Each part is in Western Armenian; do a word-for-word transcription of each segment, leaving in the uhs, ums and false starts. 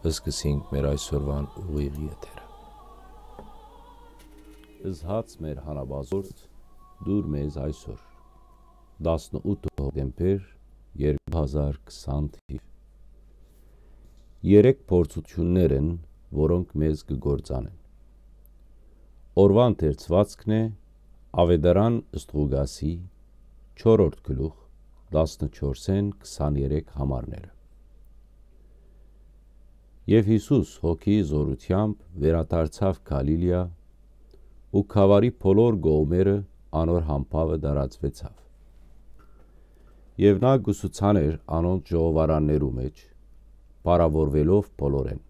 Սկսենք մեր այսօրուան ուղիղ եթերը։ Զհաց մեր հանապազորդ, դուր մեզ այսօր, տասնութ հոկտեմբեր, երկու հազար քսան թիվ։ Երեք փորձութիւններ են, որոնք մեզ կը գործանեն։ Օրուան թերցուածքն է Աւետարան Ստրուգասի չորրորդ գլուխ, տասնչորսէն քսաներեք համարները։ Եւ Յիսուս հոգիի զօրութեամբ վերադարձաւ Գալիլիա ու գաւառի բոլոր կողմերը անոր համբաւը տարածուեցաւ։ Եւ նա կուսուցան էր անոնց ժողովարաններու մէջ, փառաւորուելով բոլորէն։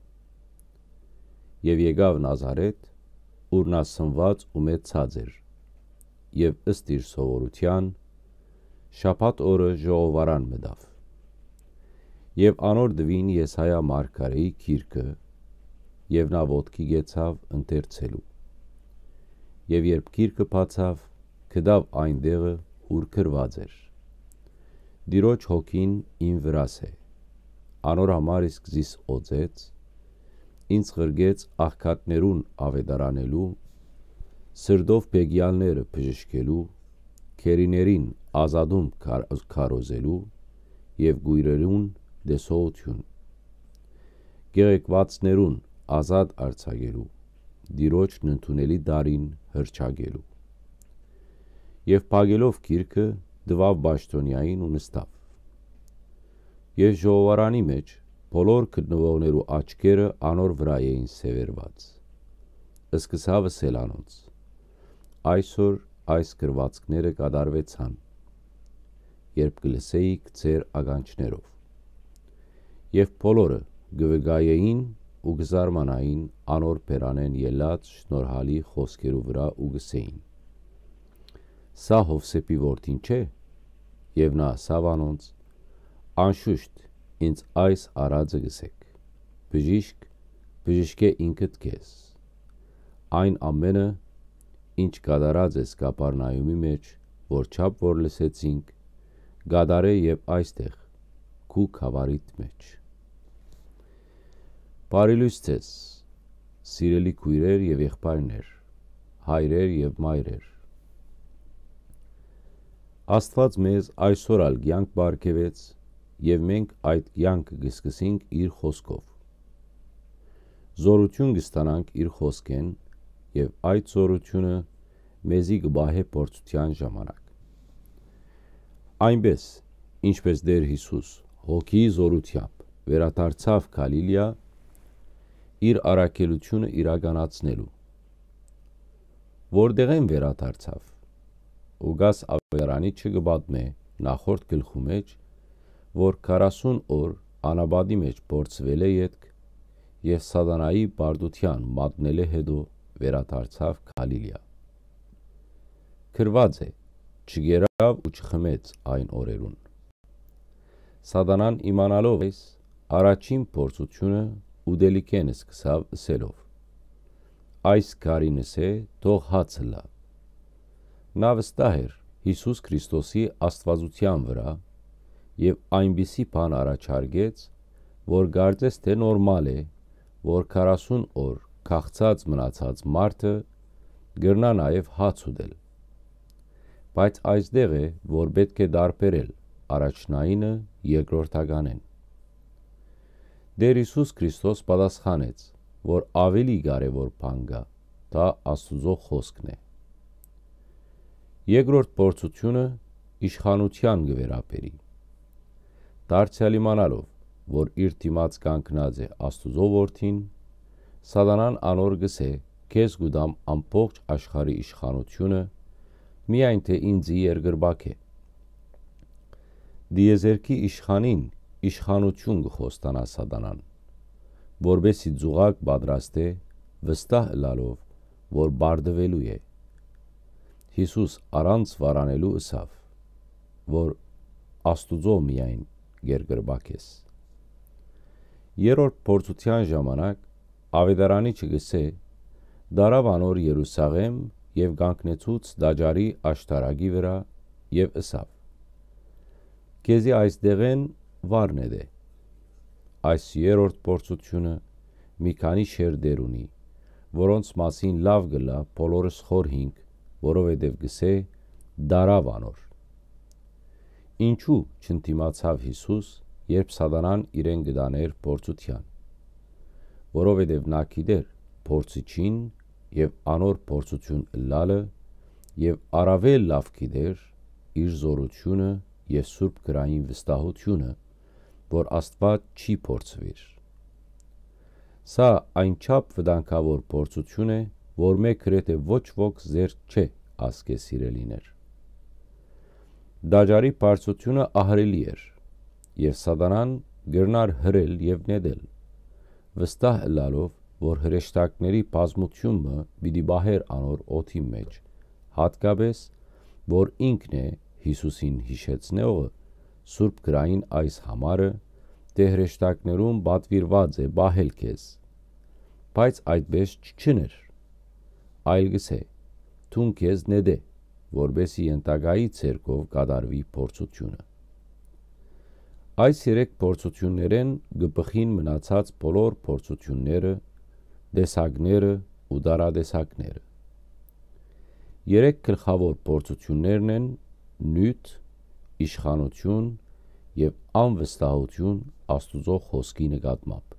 Եւ եկաւ Նազարեթ, ուր նա սնուած ու մեծցած էր, եւ ըստ իր սովորութեան, շաբաթ օրը ժողովարան մտաւ։ Եւ անոր տուին Եսայա մարգարէի գիրքը, եւ նա ոտքի կեցաւ ընթերցելու։ Եւ երբ գիրքը բացաւ, գտաւ այն տեղը, ուր գրուած էր. «Տիրոջ հոգին իմ վրաս է, անոր համար իսկ զիս օծեց, ինձ ղրկեց աղքատներուն աւետարանելու, սրտով բեկեալները բժշկելու, գերիներին ազատում քար-, քարոզելու եւ կոյրերուն տեսողութիւն, կեղեքուածներուն ազատ արձակելու, Տիրոջն ընդունելի տարին հռչակելու»։ Եւ փակելով գիրքը, տուաւ պաշտօնեային ու նստաւ։ Եւ ժողովարանի մէջ բոլոր գտնուողներու աչքերը անոր վրայ էին սեւեռուած։ Սկսաւ ըսել անոնց. «Այսօր այս գրուածքները կատարուեցան, երբ կը լսէիք ձեր ականջներով»։ Եւ բոլորը կը վկայէին ու կը զարմանային անոր բերանէն ելած շնորհալի խօսքերու վրայ ու կ'ըսէին. «Սա Յովսէփի որդին չէ՞»։ Եւ նա ըսաւ անոնց. «Անշուշտ, ինձ այս արածը կ'ըսէք. "Բժիշկ, բժշկէ ինքդ քեզ"։ Այն ամէնը, ինչ կատարած ես Կապառնայումի մէջ, որչափ որ լսեցինք, կատարէ եւ այստեղ, քու գաւառիդ մէջ»։ Բարի լոյս ձեզ, սիրելի քոյրեր եւ եղբայրներ, հայրեր եւ մայրեր։ Աստուած մեզ այսօր ալ կեանք պարգեւեց եւ մենք այդ կեանքը կը սկսենք իր խօսքով։ Զօրութիւն կը ստանանք իր խօսքէն եւ այդ զօրութիւնը մեզի կը պահէ փորձութեան ժամանակ։ Այնպէս, ինչպէս Տէր Յիսուս հոգիի զօրութեամբ վերադարձաւ Գալիլիա՝ իր առաքելութիւնը իրականացնելու։ Որտեղէն վերադարձաւ։ Ղուկաս աւետարանիչը կը պատմէ նախորդ գլխու մէջ, որ քառասուն օր անապատի մէջ փորձուելէ ետք եւ սատանայի պարտութեան մատնելէ յետոյ վերադարձաւ Գալիլիա։ Գրուած է. «Չկերաւ ու չխմեց այն օրերուն»։ Սատանան, իմանալով այս, առաջին փորձութիւնը ուտելիքէն սկսաւ ըսելով. «Այս քարին ըսէ, թող հաց ըլլայ»։ Նա վստահ էր Յիսուս Քրիստոսի աստուածութեան վրայ եւ այնպիսի բան առաջարկեց, որ կարծես թէ նորմալ է, որ քառասուն օր քաղցած մնացած մարդը կրնայ նաեւ հաց ուտել։ Բայց այստեղ է, որ պէտք է տարբերել առաջնայինը երկրորդականէն։ Տէր Յիսուս Քրիստոս պատասխանեց, որ աւելի կարեւոր բան կայ, դա Աստուծոյ խօսքն է։ Երկրորդ փորձութիւնը իշխանութեան կը վերաբերի։ Դարձեալ իմանալով, որ իր դիմաց կանգնած է Աստուծոյ Որդին, սատանան անոր կ'ըսէ. «Քեզ կու տամ ամբողջ աշխարհի իշխանութիւնը, միայն թէ ինծի երկրպագէ»։ Տիեզերքի իշխանին իշխանութիւն կը խոստանայ սատանան, որպէս զի ծուղակ պատրաստէ, վստահ ըլլալով, որ պարտուելու է։ Յիսուս առանց վարանելու ըսաւ, որ Աստուծոյ միայն երկրպագ ես։ Երրորդ փորձութեան ժամանակ աւետարանիչը կ'ըսէ. «Տարաւ անոր Երուսաղէմ եւ կանգնեցուց տաճարի աշտարակի վրայ եւ ըսաւ. "Քեզի այս տեղէն վառ նետէ"։ այս երրորդ փորձութիւնը մի քանի շերտեր ունի, որոնց մասին լաւ կ'ըլլայ բոլորս խորհինք, որովհետեւ կ'ըսէ. «Դարաւ անոր»։ Ինչո՞ւ չընդդիմացաւ Յիսուս, երբ Սատանան իրեն կը տանէր փորձութեան։ Որովհետեւ նա գիտէր փորձիչին եւ անոր փորձութիւն ըլլալը, եւ առաւել լաւ գիտէր իր զօրութիւնը եւ սուրբ գրային վստահութիւնը, որ Աստուած չի փորձուիր։ Սա այնչափ վտանգաւոր փորձութիւն է, որ մէ գրեթէ ոչ ոք զերծ չէ ասկէ, սիրելիներ։ Տաճարի բարձրութիւնը ահռելի էր, եւ Սատանան կրնար հրել եւ նետել, վստահ ըլլալով, որ հրեշտակների բազմութիւն մը պիտի պահէր անոր օդի մէջ, յատկապէս, որ ինքն է Յիսուսին յիշեցնողը, սուրբ գրային այս համարը, թէ հրեշտակներուն պատուիրուած է պահել քեզ։ Բայց այդպէս չ-, չըներ, այլ կ'ըսէ. «Դուն քեզ նետէ, որպէսզի ենթակայի ձեռքով կատարուի փորձութիւնը»։ Այս երեք փորձութիւններէն կը բխին մնացած բոլոր փորձութիւնները, տեսակները ու տարատեսակները։ Երեք գլխաւոր փորձութիւններն են նիւթ, իշխանութիւն եւ անվստահութիւն Աստուծոյ խօսքի նկատմամբ։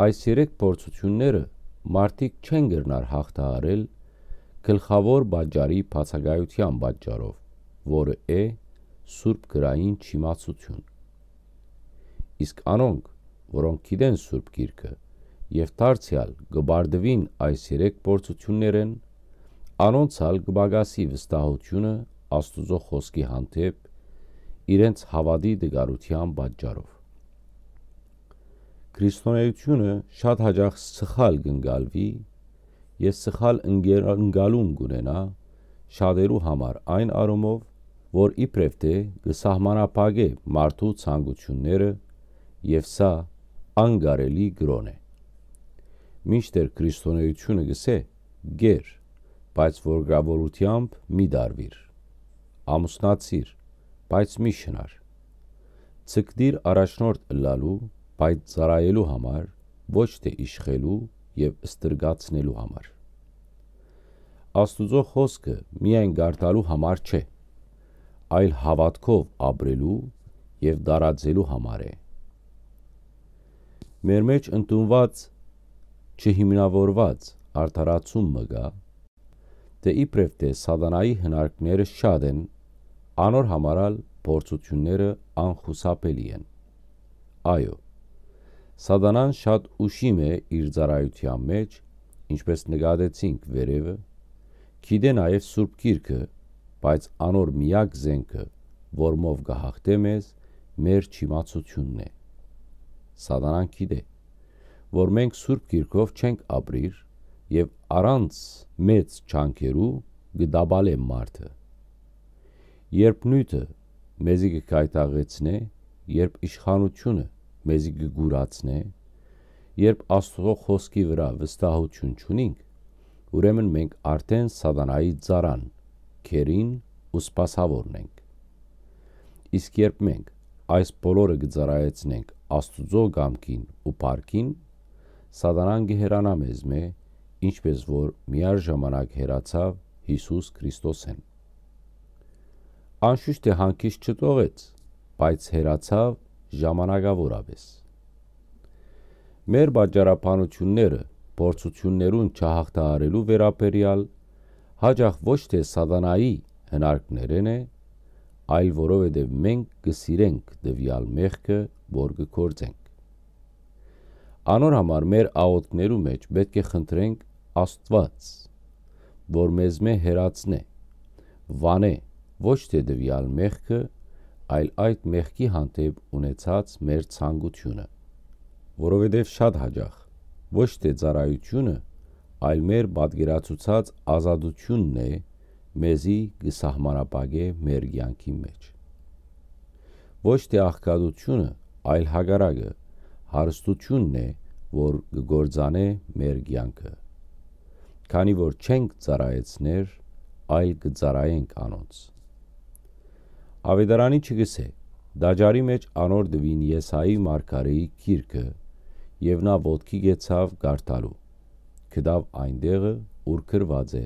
Այս երեք փորձութիւնները մարդիկ չեն կրնար յաղթահարել գլխաւոր պատճառի բացակայութեան պատճառով, որը է սուրբ գրային չիմացութիւն։ Իսկ անոնք, որոնք գիտեն Սուրբ Գիրքը եւ դարձեալ կը պարտուին այս երեք փորձութիւններէն, անոնց ալ կը պակասի վստահութիւնը Աստուծոյ խօսքի հանդէպ իրենց հաւատի տկարութեան պատճառով։ Քրիստոնէութիւնը շատ յաճախ սխալ կ'ընկալուի եւ սխալ ընկեր-, ընկալում կ'ունենայ շատերու համար այն առումով, որ իբրեւ թէ կը սահմանափակէ մարդու ցանկութիւնները եւ սա անկարելի կրօն է։ Մինչդեռ քրիստոնէութիւնը կ'ըսէ. «Կեր, բայց որգրաւորութեամբ մի տարուիր։ Ամուսնացիր, բայց մի շնար։ Ձգտիր առաջնորդ ըլլալու, բայց ծառայելու համար, ոչ թէ իշխելու եւ ստրկացնելու համար»։ Աստուծոյ խօսքը միայն կարդալու համար չէ, այլ հաւատքով ապրելու եւ տարածելու համար է։ Մեր մէջ ընդունուած չհիմնաւորուած արդարացում մը կայ, թէ իբրեւ թէ Սատանայի հնարքները շատ են, անոր համար ալ փորձութիւնները անխուսափելի են։ Այո, Սատանան շատ ուշիմ է իր ծառայութեան մէջ, ինչպէս նկատեցինք վերեւը, գիտէ նաեւ Սուրբ Գիրքը, բայց անոր միակ զէնքը, որմով կը յաղթէ մեզ, մեր չիմացութիւնն է։ Սատանան գիտէ, որ մենք Սուրբ Գիրքով չենք ապրիր եւ առանց մեծ ջանքերու կը տապալէ մարդը։ Երբ նիւթը մեզի կը գայթակղեցնէ, երբ իշխանութիւնը մեզի կը կուրացնէ, երբ Աստուծոյ խօսքի վրայ վստահութիւն չունինք, ուրեմն մենք արդէն Սատանայի ծառան, գերին ու սպասաւորն ենք։ Իսկ երբ մենք այս բոլորը կը ծառայեցնենք Աստուծոյ կամքին ու փառքին, Սատանան կը հեռանայ մեզմէ, ինչպէս որ միաժամանակ հեռացաւ Յիսուս Քրիստոսէն։ Անշուշտ թէ հանգիստ չտողեց, բայց հեռացաւ ժամանակաւորապէս։ Մեր պատճառաբանութիւնները փորձութիւններուն չյաղթահարելու վերաբերեալ յաճախ ոչ թէ Սատանայի հնարքներէն է, այլ որովհետեւ մենք կը սիրենք տուեալ մեղքը, որ կը գործենք։ Անոր համար մեր աղօթքներու մէջ պէտք է խնդրենք Աստուած, որ մեզմէ հեռացնէ, վանէ ոչ թէ տուեալ մեղքը, այլ այդ մեղքի հանդէպ ունեցած մեր ցանկութիւնը, որովհետեւ շատ յաճախ ոչ թէ ծառայութիւնը, այլ մեր պատկերացուցած ազատութիւնն է մեզի կը սահմանափակէ մեր կեանքի մէջ։ Ոչ թէ աղքատութիւնը, այլ հակառակը, հարստութիւնն է, որ կը կործանէ մեր կեանքը, քանի որ չենք ծառայեցներ, այլ կը ծառայենք անոնց։ Աւետարանիչը կ'ըսէ. Տաճարի մէջ անոր տուին Եսայի մարգարէի գիրքը եւ նա ոտքի կեցաւ կարդալու։ Գտաւ այն տեղը, ուր գրուած է.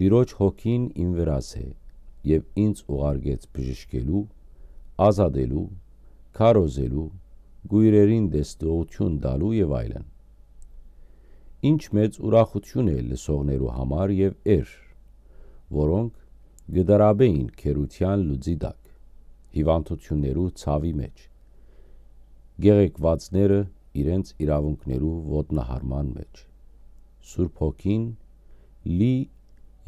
«Տիրոջ հոգին իմ վրաս է եւ ինձ ուղարկեց բժշկելու, ազատելու, քարոզելու, կոյրերին տեսնողութիւն տալու եւ այլն»։ Ինչ մեծ ուրախութիւն է լսողներու համար եւ էր, որոնք կը դարաբեին գերութեան լուծի տակ, հիւանդութիւններու ցաւի մէջ, գեղեկուածները իրենց իրաւունքներու ոտնահարման մէջ։ Սուրբ Հոգին լի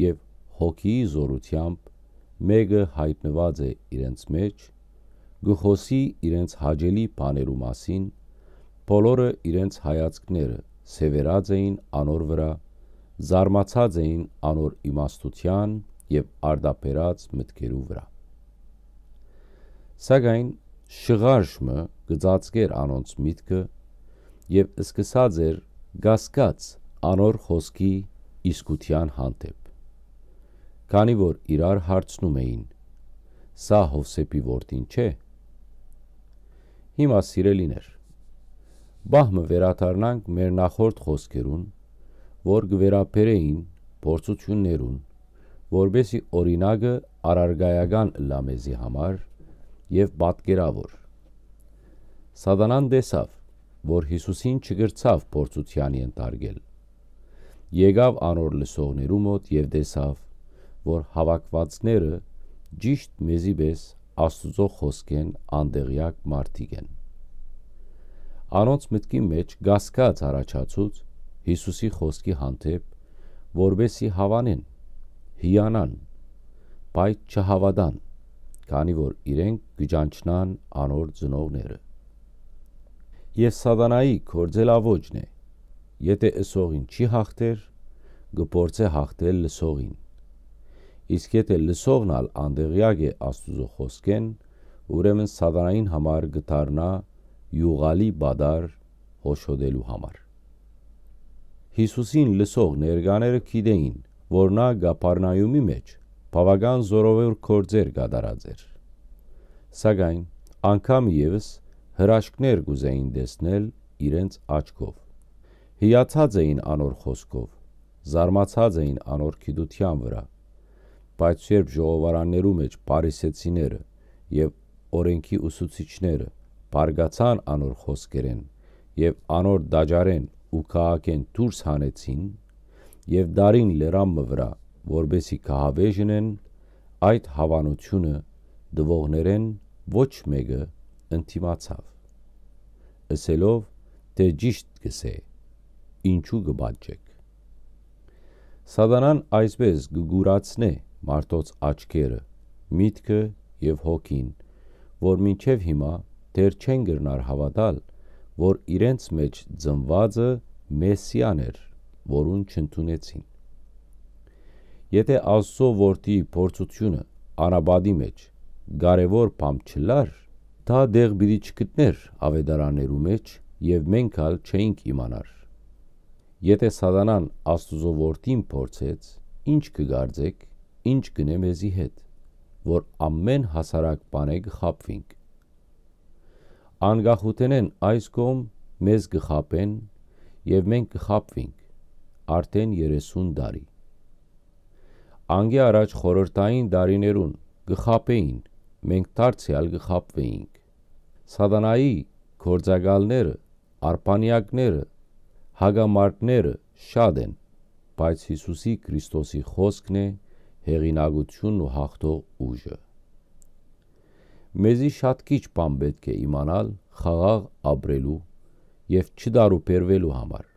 եւ հոգիի զօրութեամբ մէկը յայտնուած է իրենց մէջ, կը խօսի իրենց հաճելի բաներու մասին, բոլորը իրենց հայացքները սեւեռած էին անոր վրայ, զարմացած էին անոր իմաստութեան եւ արտաբերած մտքերու վրայ։ Սակայն շղարշ մը կը ծածկէր անոնց միտքը եւ սկսած էր կասկած անոր խօսքի իսկութեան հանդէպ, քանի որ իրար հարցնում էին. «Սա Յովսէփի որդին չէ՞»։ Հիմա, սիրելիներ, պահ մը վերադառնանք մեր նախորդ խօսքերուն, որ կը վերաբերէին փորձութիւններուն, որպէսզի օրինակը առարկայական ըլլայ մեզի համար եւ պատկերաւոր։ Սատանան տեսաւ, որ Յիսուսին չկրցաւ փորձութեան ենթարկել։ Եկաւ անոր լսողներու մօտ եւ տեսաւ, որ հաւաքուածները ճիշդ մեզի պէս Աստուծոյ խօսքէն անտեղեակ մարդիկ են։ Անոնց մտքի մէջ կասկած առաջացուց Յիսուսի խօսքի հանդէպ, որպէսզի հաւանեն, հիանան, բայց չհաւատան, քանի որ իրենք կը ճանչնան անոր ծնողները։ Եւ Սատանայի գործելաոճն է, եթէ ըսողին չի յաղթեր, կը փորձէ յաղթել լսողին։ Իսկ եթէ լսողն ալ անտեղեակ է Աստուծոյ խօսքէն, ուրեմն Սատանային համար կը դառնայ իւղալի պատառ հոշոտելու համար։ Յիսուսին լսող ներկաները գիտէին, որ նա Կափառնայումի մէջ բաւական զօրաւոր գործեր կատարած էր։ Սակայն անգամ եւս հրաշքներ կ'ուզէին տեսնել իրենց աչքով։ Հիացած էին անոր խօսքով, զարմացած էին անոր գիտութեան վրայ, բայց երբ ժողովարաններու մէջ փարիսեցիները եւ օրէնքի ուսուցիչները բարկացան անոր խօսքերէն եւ անոր տաճարէն ու քաղաքէն դուրս հանեցին եւ տարին լերան մը վրայ, որպէսզի գահավէժ ընեն, այդ հաւանութիւնը տուողներէն ոչ մէկը ընդդիմացաւ, ըսելով թէ ճիշդ կ'ըսէ, ինչո՞ւ կը պատժէք։ Սատանան այսպէս կը կուրացնէ մարդոց աչքերը, միտքը եւ հոգին, որ մինչեւ հիմա դեռ չեն կրնար հաւատալ, որ իրենց մէջ ծնուածը Մեսիան էր, որուն չընդունեցին։ Եթէ Աստուծոյ որդի փորձութիւնը անապատի մէջ կարեւոր բան չըլլար, դա տեղ պիտի չգտնէր աւետարաններու մէջ եւ մենք ալ չէինք իմանար։ Եթէ Սատանան Աստուծոյ որդին փորձեց, ի՞նչ կը կարծէք, ի՞նչ կ'ընէ մեզի հետ, որ ամէն հասարակ բանէ կը խաբուինք։ Անկախութենէն այս կողմ մեզ կը խաբեն եւ մենք կը խաբուինք արդէն երեսուն տարի։ Անկէ առաջ խորհրդային տարիներուն կը խաբէին, մենք դարձեալ կը խաբուէինք։ Սատանայի գործակալները, արբանեակները, հակամարտները շատ են, բայց Յիսուսի Քրիստոսի խօսքն է հեղինակութիւնն ու յաղթող ուժը։ Մեզի շատ քիչ բան պէտք է իմանալ խաղաղ ապրելու եւ չտարուբերուելու համար։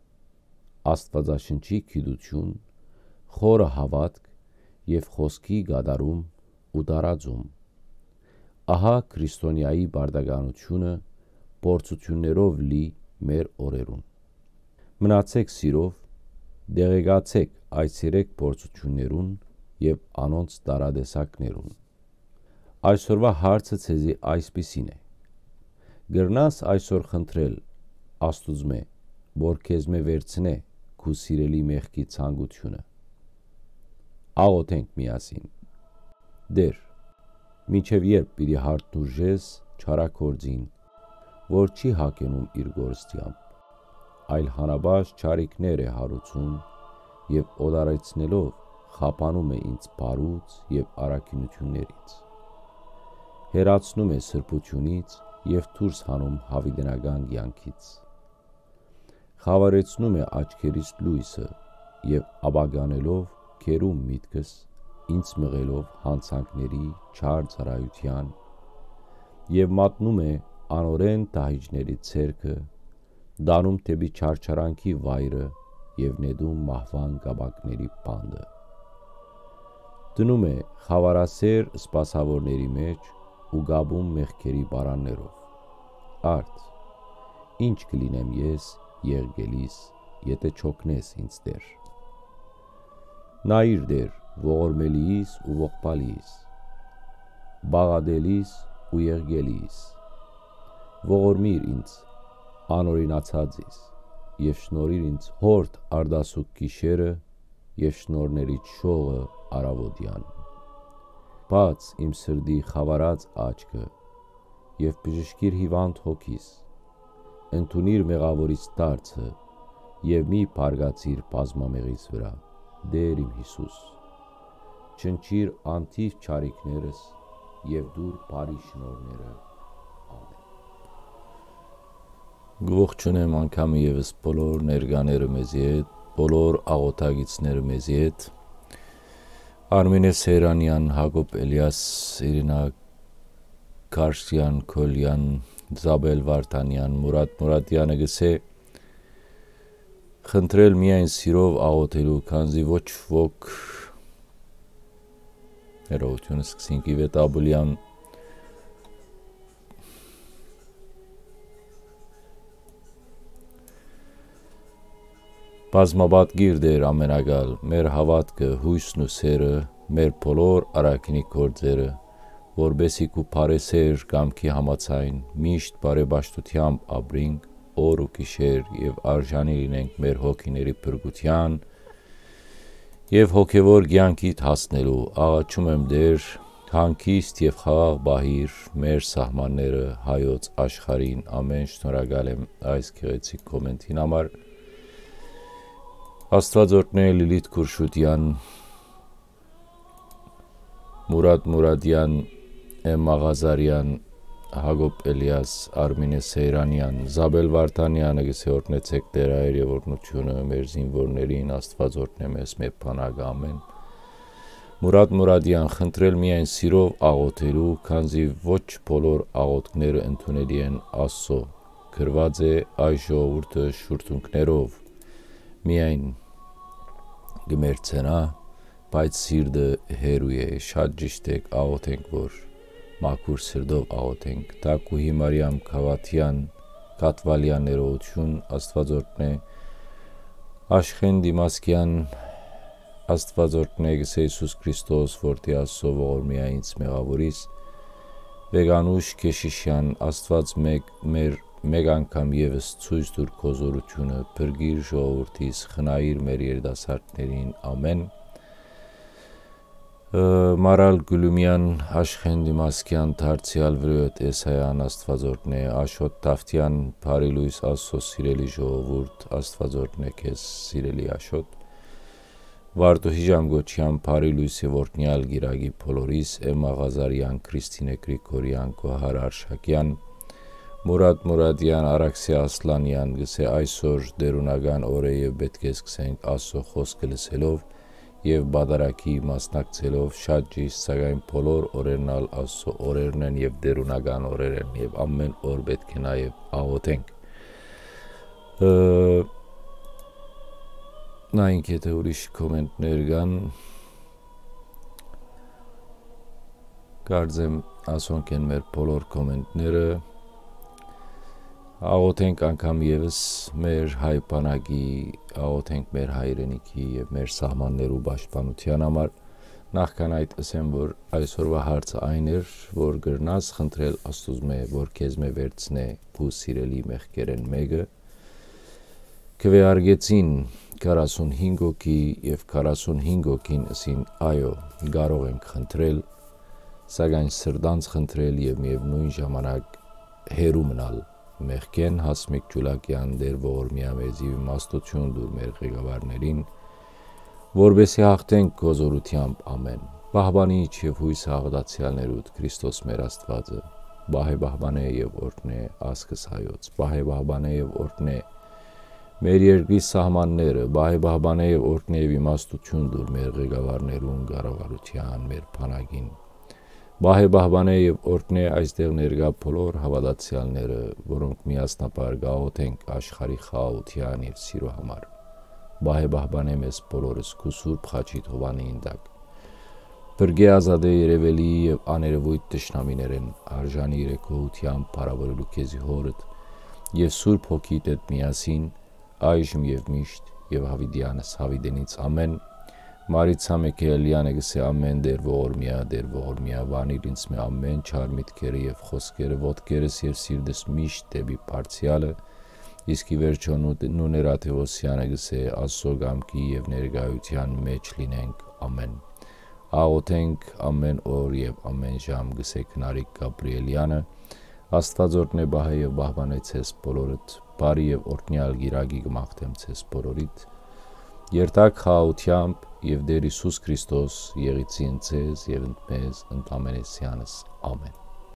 Աստուածաշնչի գիտութիւն, խորը հաւատք եւ խօսքի կատարում ու տարածում։ Ահա քրիստոնեայի պարտականութիւնը փորձութիւններով լի մեր օրերուն։ Մնացէք սիրով, տեղեկացէք այս երեք փորձութիւններուն եւ անոնց տարատեսակներուն։ Այսօրվա հարցը ձեզի այսպիսին է. կրնաս այսօր խնդրել Աստուծմէ, որ քեզմէ վերցնէ քու սիրելի մեղքի ցանկութիւնը։ Աղոթենք միասին։ Տէր, Մինչեւ ե՞րբ պիտի յարդնուժես չարագործին, որ չի հագենում իր կորստեամբ, այլ հանապաշտ չարիքներ է յարուցում եւ օտարեցնելով խափանում է ինձ բարուց եւ առաքինութիւններից։ Հեռացնում է սրբութիւնից եւ դուրս հանում յաւիտենական կեանքից։ Խաւարեցնում է աչքերիս լոյսը եւ ապականելով գերում միտքս, ինձ մղելով յանցանքների չար ծառայութեան եւ մատնում է անօրէն դահիճների ձեռքը, տանում դէպի չարչարանքի վայրը եւ նետում մահուան կապակների պանդը։ Դնում է խաւարասէր սպասաւորների մէջ ու կապում մեղքերի պարաններով։ Արդ, ի՞նչ կը լինեմ ես եղկելիս, եթէ չօգնես ինձ, Տէր։ Նայիր, Տէր, ողորմելիս ու ողբալիս, բաղատելիս ու եղկելիս։ Ողորմիր ինձ, անօրինացածիս, եւ շնորհիր ինձ յորդ արտասուք գիշերը եւ շնորհներիդ շողը առաւօտեան։ Բաց իմ սրտի խաւարած աչքը եւ բժշկիր հիւանդ հոգիս։ Ընդունիր մեղաւորիս դարձը եւ մի բարկացիր բազմամեղիս վրայ, Տէր իմ Յիսուս։ Չնչիր անթիվ չարիքներս եւ տուր բարի շնորհները։ Ամէն։ Կողջունեմ անգամ եւս բոլոր ներկաները մեզի հետ, բոլոր աղոթագիցները մեզի հետ։ Արմինե Սեյրանեան, Յակոբ Էլիաս, Իրինա Քարշեան, Քոլեան, Զաբել Վարդանեան, Մուրատ Մուրատեանը գսէ, խնդրել միայն սիրով աղոթելու, քանզի ոչ ոք, ներողութիւն, սկսինք Իվետ Աբուլեան, բազմապատկիր Տէր ամենակալ, մեր հաւատքը, յոյսն ու սերը, մեր բոլոր առաքինի գործերը, որպէսզի քու բարեսէր կամքի համաձայն միշտ բարեպաշտութեամբ ապրինք օր ու գիշեր եւ արժանի լինենք մեր հոգիների փրկութեան եւ հոգեւոր կեանքիդ հասնելու։ Աղաչում եմ, Տէր, հանգիստ եւ խաղաղ պահիր մեր սահմանները հայոց աշխարհին։ Ամէն։ Շնորհակալ եմ այս գեղեցիկ կոմենտին համար։ Աստուած օրհնէ Լիլիթ Քուրշուտեան, Մուրատ Մուրատեան, Էմմա Ղազարեան, Յակոբ Էլիաս, Արմինե Սեյրանեան, Զաբել Վարդանեանը գսէ, օրհնեցէք Տէր Հայր եւ օրհնութիւնը մեր զինուորներին, Աստուած օրհնէ մեզ մեր բանակը, ամէն։ Մուրատ Մուրատեան, խնդրել միայն սիրով աղոթելու, քանզի ոչ բոլոր աղոթքները ընդունելի են Աստծո։ Գրուած է այս ժողովուրդը շուրթունքներով միայն կը մեռցնայ, բայց սիրտը հեռու է։ Շատ ճիշդ եք, աղոթենք, որ մաքուր սրտով աղոթենք։ Թագուհի Մարիամ Գավաթեան, Գատվալեան, ներողութիւն, Աստուած օրհնէ Աշխեն Դիմասկեան, Աստուած օրհնէ գսէ Յիսուս Քրիստոս, որդի Աստծո, ողորմի ա ինձ մեղաւորիս, Վեգանուշ Քեշիշեան, Աստուած մեկ, մեր, մեկ անգամ եւս ցոյց տուր քո զօրութիւնը, փրկիր ժողովուրդիս, խնայիր մեր երիտասարդներին, ամէն։ Ը, Մարալ Գուլումեան, Աշխեն Դիմասկեան, դարձեալ Վրոյոտ Էսայան, Աստուած օրհնէ, Աշոտ Դավթեան, բարի լոյս Աստծո սիրելի ժողովուրդ, Աստուած օրհնէ քեզ, սիրելի Աշոտ։ Վարդուհի Ժամգոչեան, բարի լոյս եւ օրհնեալ կիրակի բոլորիս, Էմմա Ղազարեան, Քրիստինե Գրիգորեան, Գոհար Արշակեան, Մուրատ Մուրատեան, Արաքսի Ասլանեան, գսէ այսօր դերունական օր է եւ պէտք է սկսենք Աստծո խօսքը լսելով եւ պատարագի մասնակցելով, շատ ճիշդ, սակայն բոլոր օրերն ալ Աստծո օրերն են եւ դերունական օրեր են եւ ամէն օր պէտք է նաեւ աղոթենք։ Ը, նայենք, եթէ ուրիշ կոմենտներ կան, կարծեմ ասոնք են մեր բոլոր կոմենտները։ Աղոթենք անգամ եւս մեր հայ բանակի, աղոթենք մեր հայրենիքի եւ մեր սահմաններու պաշտպանութեան համար։ Նախքան այդ ըսեմ, որ այսօրվա հարցը այն էր, որ կրնաս խնդրել Աստուծմէ, որ քեզմէ վերցնէ քու սիրելի մեղքերէն մէկը։ Քուէարկեցին քառասունհինգ հոգի եւ քառասունհինգ հոգին ըսին. «Այո, կարող ենք խնդրել»։ սակայն սրտանց խնդրել եւ միեւնոյն ժամանակ հեռու մնալ մեղքէն։ Հասմիկ Ջուլակեան, Տէր ողորմեա, մեզի իմաստութիւն տուր մեր ղեկավարներին, որպեսզի հաղթենք քո զօրութեամբ ամէն։ Պահպանիչ եւ յոյս հաղթացեալներուդ Քրիստոս մեր Աստուածը, պահէ պահպանէ եւ օրհնէ ազգս հայոց, պահէ պահպանէ եւ օրհնէ մեր երկրի սահմանները, պահէ պահպանէ եւ օրհնէ եւ իմաստութիւն տուր մեր ղեկավարներուն, կառավարութեան, մեր բանակին։ Պահէ պահպանէ եւ օրհնէ այստեղ ներկայ բոլոր հաւատացեալները, որոնք միասնաբար կաղոթենք աշխարհի խաղաղութեան եւ սիրո համար։ Պահէ պահպանէ մեզ բոլորս քու սուրբ խաչի թովանին տակ։ Փրկէ ազատէ երեւելի եւ աներեւոյթ թշնամիներէն, արժանի իրեքողութեան փառաւորելու քեզի հորդ եւ Սուրբ Հոգիդ հետ միասին, այժմ եւ միշտ եւ յաւիտեանս յաւիտենից ամէն։ Մարիցա Միքայելեանը կ'ըսէ ամէն Տէր ողորմեա, Տէր ողորմեա, վանիր ինձ մէ ամէն չար միտքերը եւ խօսքերը, ոտքերս եւ սիրտս միշտ դէպի բարձեալը, իսկ ի վերջոյ Նու-, Նուներ Աթեւոսեանը կ'ըսէ Աստուծոյ կամքի եւ ներկայութեան մէջ լինենք ամէն։ Աղոթենք ամէն օր եւ ամէն ժամ, կ'ըսէ Քնարիկ Գաբրիելեանը, Աստուած օրհնէ պահէ եւ պահպանէ ձեզ բոլորդ, բարի եւ օրհնեալ կիրակի կը մաղթեմ ձեզ բոլորիդ, երթաք խաղաղութեամբ եւ Տէր Յիսուս Քրիստոս եղիցին ձեզ եւ ընդ մեզ ընդամենեսեանս, ամէն։